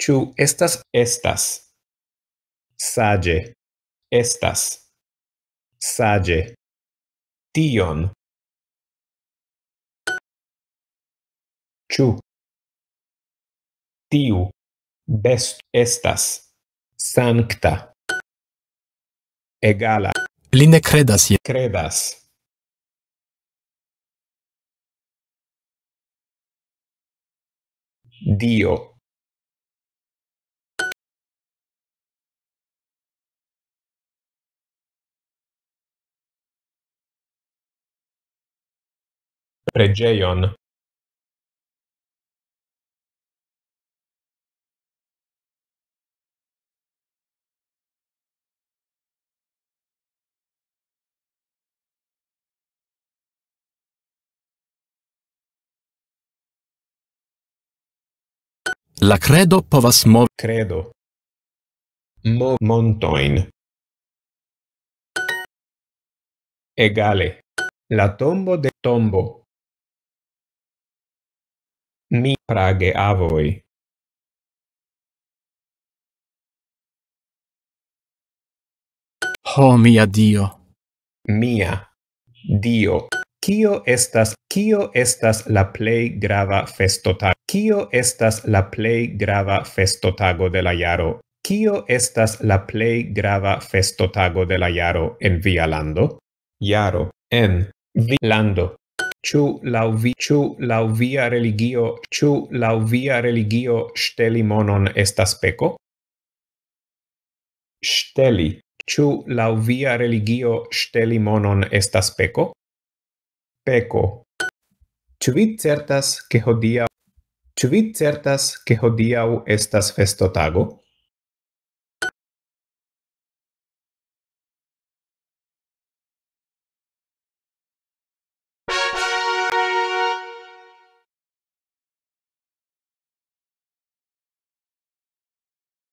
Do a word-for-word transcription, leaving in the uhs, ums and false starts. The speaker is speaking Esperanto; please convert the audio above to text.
Ĉu estas? Estas. Saĝe. Estas. Saĝe. Tion. Ĉu? Tiu. Best. Estas. Sankta. Egala. Li ne kredas je. Kredas. Dio. Preĝejon. La kredo povas movi. Kredo. Mo montojn. Egale. La tombo de tombo. Mi prageavoj. Ho, mia Dio. Mia Dio. Kio estas, kio estas la plej grava festotago? Kio estas la plej grava festotago de la jaro? Kio estas la plej grava festotago de la jaro en via lando? Jaro. En vi lando. Ĉu laŭ vi, ĉu laŭ via religio, ĉu laŭ via religio ŝteli monon estas peko? Ŝteli. Ĉu laŭ via religio ŝteli monon estas peko? Peko. Ĉu vi certas, ke hodiaŭ, ĉu vi certas, ke hodiaŭ estas festotago?